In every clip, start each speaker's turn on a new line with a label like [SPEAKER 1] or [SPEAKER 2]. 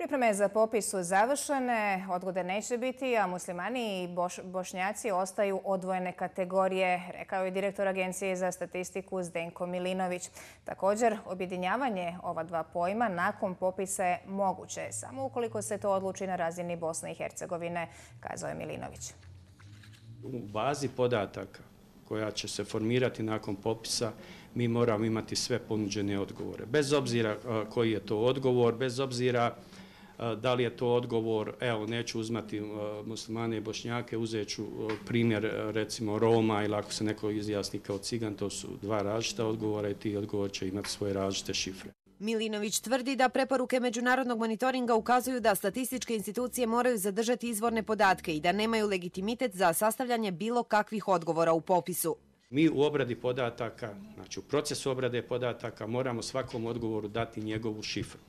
[SPEAKER 1] Pripreme za popis su završene, odgode neće biti, a muslimani i bošnjaci ostaju odvojene kategorije, rekao je direktor Agencije za statistiku Zdenko Milinović. Također, objedinjavanje ova dva pojma nakon popisa je moguće, samo ukoliko se to odluči na razini Bosne i Hercegovine, kazao je Milinović.
[SPEAKER 2] U bazi podataka koja će se formirati nakon popisa, mi moramo imati sve ponuđene odgovore. Bez obzira koji je to odgovor, bez obzira da li je to odgovor, evo neću uzmati muslimane i bošnjake, uzet ću primjer recimo Roma ili ako se neko izjasni kao cigan, to su dva različita odgovora i ti odgovor će imati svoje različite šifre.
[SPEAKER 3] Milinović tvrdi da preporuke međunarodnog monitoringa ukazuju da statističke institucije moraju zadržati izvorne podatke i da nemaju legitimitet za sastavljanje bilo kakvih odgovora u popisu.
[SPEAKER 2] Mi u obradi podataka, znači u procesu obrade podataka, moramo svakom odgovoru dati njegovu šifru.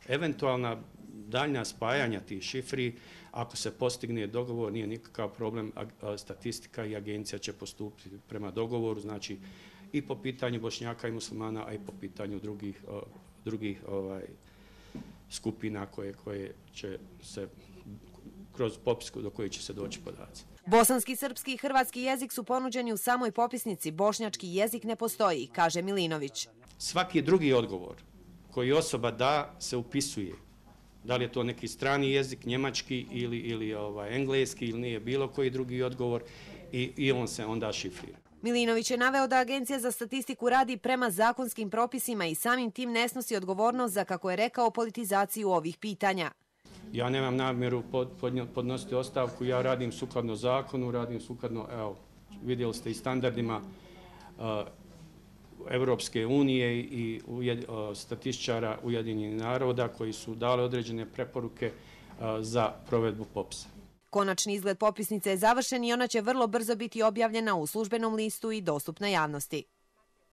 [SPEAKER 2] Eventualna daljnja spajanja tih šifri, ako se postigne dogovor, nije nikakav problem, statistika i agencija će postupiti prema dogovoru, znači i po pitanju bošnjaka i muslimana, a i po pitanju drugih skupina koje će se kroz popis do kojih će se doći podaci.
[SPEAKER 3] Bosanski, srpski i hrvatski jezik su ponuđeni u samoj popisnici, bošnjački jezik ne postoji, kaže Milinović.
[SPEAKER 2] Svaki drugi odgovor koji osoba da se upisuje. Da li je to neki strani jezik, njemački ili engleski ili nije bilo koji drugi odgovor i on se onda šifrira.
[SPEAKER 3] Milinović je naveo da Agencija za statistiku radi prema zakonskim propisima i samim tim ne snosi odgovornost za, kako je rekao, politizaciju ovih pitanja.
[SPEAKER 2] Ja nemam namjeru podnositi ostavku, ja radim sukladno zakonu, radim sukladno, evo, vidjeli ste i standardima Evropske unije i statističara Ujedinjenih naroda koji su dali određene preporuke za provedbu popisa.
[SPEAKER 3] Konačni izgled popisnice je završen i ona će vrlo brzo biti objavljena u službenom listu i dostupna javnosti.